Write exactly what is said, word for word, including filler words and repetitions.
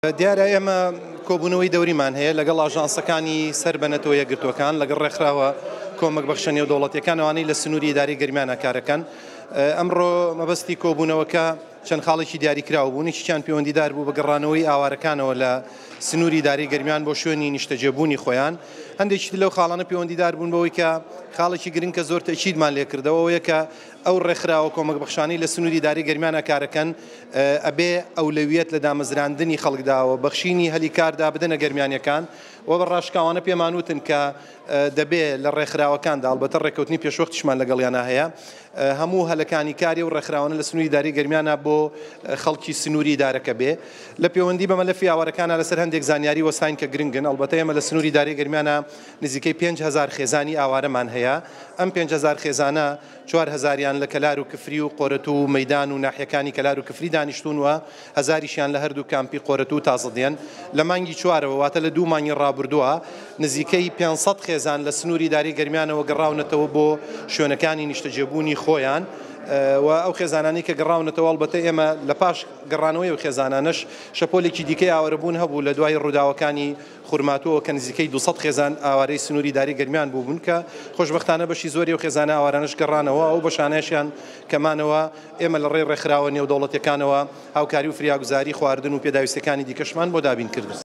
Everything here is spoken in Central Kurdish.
دیارە ئێمە کۆبوونەوەی دەوریمان هەیە لەگەڵ ئاژانسەکانی سەر بە نەتەوە یەکگرتووەکان، لەگەڵ ڕێکخراوە کۆمەک بەخشە نێودەوڵەتیەکان ئەوانەی لە سنووری ئیدارەی گەرمیانە کارەکەن. ئەمڕۆ مەبەستی کۆبوونەوەکە چەند خاڵێکی دیاریکراو بوون، یەکێکیان پەیوەندیدار بوو بە گەڕانەوەی ئاوارەکانەوە لە سنووری ئیدارەی گەرمیان بۆ شوێنی نیشتەجێبوونی خۆیان. هەندێکی لەو خاڵانە پەیوەندیدار بوون بەوەی کە خاڵێکی گرنگ کە زۆر تەئکیدمان لێکردەوە ئەوەیە کە ئەو ڕێکخراوە کۆمەک بەخشانەی لە سنووری ئیدارەی گەرمیانە کارەکەن ئەبێ ئەولەویەت لە دامەزراندنی خەڵکداوە بەخشینی هەلی کاردا بدەنە گەرمیانیەکان و بە ڕاشکاوانە پێمان وتن کە دەبێ لە ڕێکخراوەکاندا، ئەڵبەتە ڕێککەوتنی پێشوەختیشمان لەگەڵیانە هەیە، هەموو هەلەکانی کاری و ڕێکخراوانە لە سنووری ئیدارەی گەرمیانە بۆ خەڵکی سنووری ئیدارەکە بێ. لە پەیوەندی بە مەلەفی ئاوارەکانە لەسەر هەندێک زانیاری وەستاین کە گرنگن. ئەڵبەتە ئێمە لە سنووری ئیدارەی گەرمیانە نزیکەی پێنج هەزار خێزانی ئاوارەمان هەیە. ئەم پێنج هەزار خێزانە چوار هەزاریان لە کەلار و کفری و قۆرەتوو و مەدان و ناحیەکانی کەلار و کفری دانیشتون و هەزاریشیان لە هەردوو کامپی قۆرەتوو و تازەدێن. لە مانگی چوارەوە واتە لە دوو مانگی ڕابردووە نزیکەی پێنج سەد خێزان لە سنووری ئیدارەی گەرمیانەوە گەڕاونەتەوە بۆ شوێنەکانی نیشتەجێبوونی خۆیان. و ئەو خێزانانەی کە گەڕاونەتەوە، ئەڵبەتە ئێمە لە پاش گەڕانەوەی ئەو خێزانانەش شەپۆلێکی دیکەی ئاوارەبوون هەبوو لە دوای ڕووداوەکانی خورماتووەوە کە نزیکەی دوو سەد خێزان ئاوارەی سنووری ئیدارەی گەرمیان بووبوون کە خۆشبەختانە بەشی زۆری ئەو خێزانە ئاوارانەش گەڕانەوە. ئەو بەشانەشیان کەمانەوە ئێمە لە ڕێی ڕێکخراوە نێودەوڵەتیەکانەوە هاوکاری و فریاگوزاری خواردن و پێداویستەکانی دیکەشمان بۆ دابین کردن.